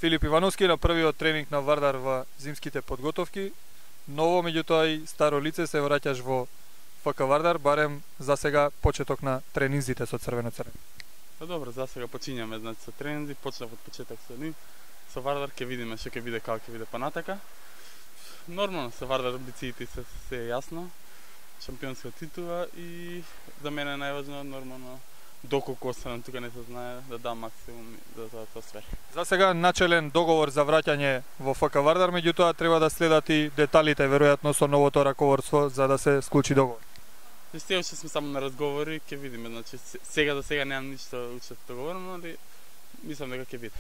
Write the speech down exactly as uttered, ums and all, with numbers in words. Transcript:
Филип Ивановски на првиот тренинг на Вардар во зимските подготовки. Ново, меѓутоа и старо лице, се враќаш во ФК Вардар, барем за сега почеток на тренинзите со црвено-црвени. Па добро, за сега почињаме, значи со тренинзи, почнав од почеток со нив. Со Вардар ќе видиме што ќе биде, како ќе биде понатака. Нормално, со Вардар амбициите се се е јасно. Шампионска титула и за мене е најважно нормално доколку останам тука не се знае да дам максимум да за тоа све. За сега начелен договор за враќање во ФК Вардар, меѓутоа треба да следат и деталите веројатно со новото раководство за да се склучи договор. Се уште сме само на разговори, ќе видиме, значи сега за сега немам ништо уште договорено, али мислам дека ќе биде.